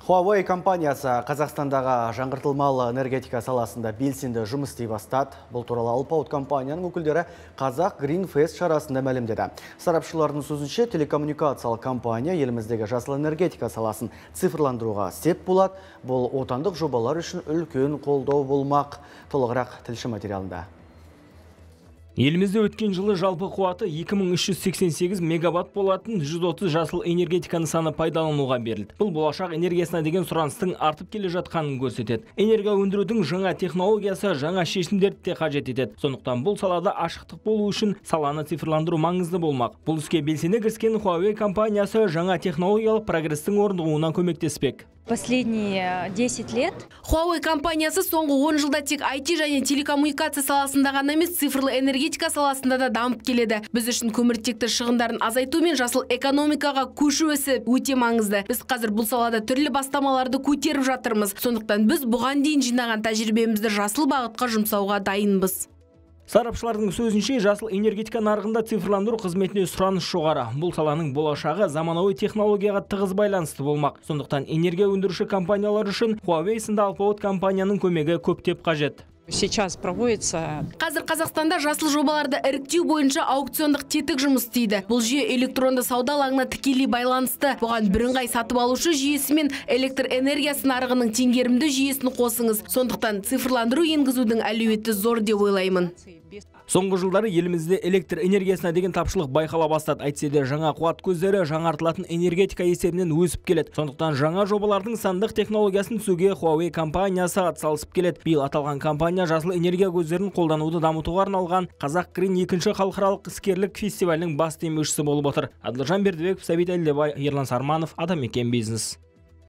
Huawei компаниясы Қазақстандағы жаңғыртылмалы энергетика саласында белсенді жұмыс істей бастады. Бұл туралы Алпауыт компанияның өкілдері Қазақ Green Fest шарасында мәлімдеді. Сарапшылардың сөзінше, телекоммуникациялық компания еліміздегі жасыл энергетика саласын цифрландыруға сеп болады. Бұл отандық жобалар үшін үлкен қолдау болмақ. Толығырақ тілші материалында. Елімізде өткен жылы жалпы қуаты 2388 мегаватт болатын 130 жасыл энергетика нысаны пайдалануға берілді. Бұл болашақ энергиясына деген сұраныстың артып келе жатқанын көрсетеді. Энергия өндірудің жаңа технологиясы жаңа шешімдерді де қажет етеді. Сондықтан бұл салада ашықтық болу үшін саланы цифрландыру маңызды болмақ. Бұл іске белсене кіріскен Huawei компаниясы жаңа технологиялық прогрестің орнығуына көмектеспек. Последние 10 лет Huawei компаниясы соңғы 10 жылда тек IT және телекоммуникация саласында ғана емес, цифрлы энергетика саласында да дамып келеді. Біз үшін көміртекті шығындарын азайту мен жасыл экономикаға көшу ісі өте маңызды. Біз қазір бұл салада түрлі бастамаларды көтеріп жатырмыз. Сондықтан біз бұған дейін жинаған тәжірибемізді жасыл бағытқа жұмсауға дайынбыз. Сарапшылардың сөзінше, жасыл энергетика нарығында цифрландыру қызметіне сұраныс жоғары. Бұл саланың болашағы заманауи технологияға тығыз байланысты болмақ. Сондықтан энергия өндіруші компаниялар үшін Huawei сынды Алпауыт компанияның көмегі көптеп қажет. Сейчас проводится. Қазір Қазақстанда жасыл жобаларды іріктеу бойынша аукциондық тетік жұмыс істейді. Бұл жүйе электронды сауда алаңына тікелей байланысты. Бұған бірыңғай сатып алушы жүйесі мен электр энергиясы нарығының теңгерімді жүйесін қосыңыз. Сондықтан цифрландыру енгізудің әлеуеті зор деп ойлаймын. Соңғы жылдары елімізде электр энергиясына деген тапшылық байқала бастады. Әйтсе де жаңа қуат көздері жаңартылатын энергетика есебінен өсіп келеді. Сондықтан жаңа жобалардың сандық технологиясын түсуге Huawei компаниясы атсалысып келеді. Биыл аталған компания жасыл энергия көздерін қолдануды дамытуға арналған Қазақ Green 2-ші халықаралық іскерлік фестивалінің бас демеушісі болып отыр. Адылжан Бердібеков, Сәбит Әлдебай, Ерлан Сарманов, Атамекен бизнес.